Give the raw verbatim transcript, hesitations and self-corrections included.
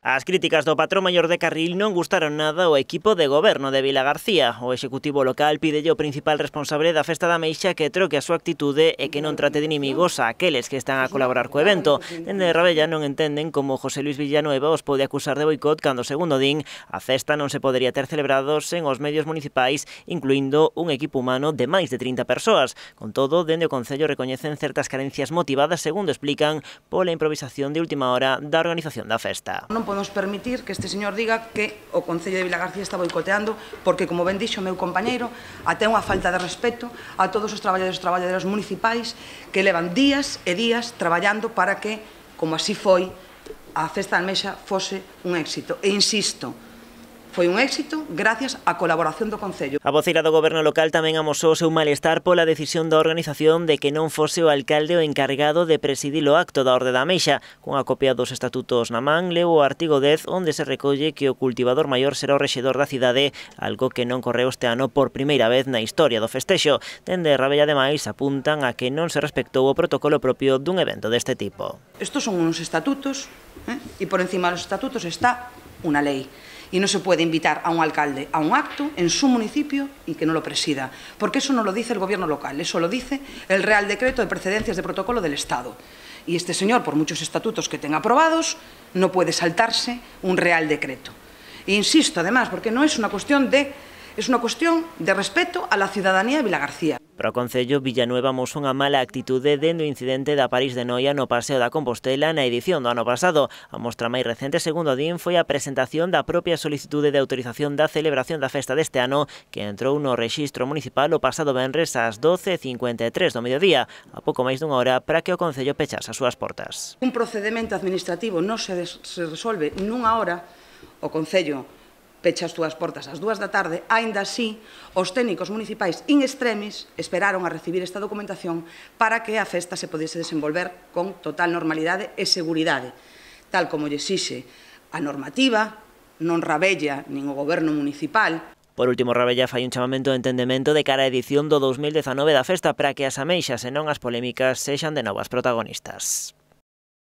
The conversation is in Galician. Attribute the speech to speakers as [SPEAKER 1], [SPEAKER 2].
[SPEAKER 1] As críticas do patrón maior de Carril non gustaron nada ao equipo de goberno de Vilagarcía. O executivo local pídelle ao principal responsable da Festa da Ameixa que troque a súa actitude e que non trate de inimigos a aqueles que están a colaborar co evento. Dende Rabella non entenden como José Luis Villanueva os pode acusar de boicot cando, segundo din, a festa non se podería ter celebrado sen os medios municipais, incluindo un equipo humano de máis de trinta persoas. Con todo, dende o Concello recoñecen certas carencias motivadas, segundo explican, pola improvisación de última hora da organización da festa.
[SPEAKER 2] Non podemos permitir que este señor diga que o Concello de Vilagarcía está boicoteando porque, como ben dixo o meu compañeiro, até unha falta de respeto a todos os traballadores e traballadoras municipais que levan días e días traballando para que, como así foi, a Festa da Ameixa fose un éxito. E insisto, foi un éxito gracias á colaboración do Concello.
[SPEAKER 1] A voceira do goberno local tamén amosou o seu malestar pola decisión da organización de que non fose o alcalde o encargado de presidir o acto da Orde da Ameixa. Cunha copia dos estatutos na man, leu o artigo dez onde se recolle que o cultivador maior será o rexedor da cidade, algo que non correu este ano por primeira vez na historia do festexo. Dende Rabella, ademais, apuntan a que non se respectou o protocolo propio dun evento deste tipo.
[SPEAKER 2] Estos son unos estatutos, eh? e por encima dos estatutos está unha lei. Y no se puede invitar a un alcalde a un acto en su municipio y que no lo presida, porque eso no lo dice el gobierno local, eso lo dice el Real Decreto de Precedencias de Protocolo del Estado. Y este señor, por muchos estatutos que tenga aprobados, no puede saltarse un Real Decreto. E insisto, además, porque no es una cuestión de, es una cuestión de respeto a la ciudadanía de Vilagarcía.
[SPEAKER 1] Para o Concello, Villanueva amosou unha mala actitude dende o incidente da París de Noia no Paseo da Compostela na edición do ano pasado. A mostra máis recente, segundo din, foi a presentación da propia solicitude de autorización da celebración da festa deste ano, que entrou no rexistro municipal o pasado venres ás doce e cincuenta e tres do mediodía, a pouco máis dunha hora para que o Concello pechase as súas portas.
[SPEAKER 2] Un procedimento administrativo non se, se resolve nunha hora, o Concello pecha as túas portas ás dúas da tarde, aínda así, os técnicos municipais in extremis esperaron a recibir esta documentación para que a festa se podese desenvolver con total normalidade e seguridade, tal como lle exixe a normativa, non Rabella nin o goberno municipal.
[SPEAKER 1] Por último, Rabella fai un chamamento de entendemento de cara á edición do dos mil dezanove da festa para que as ameixas e non as polémicas sexan de novas protagonistas.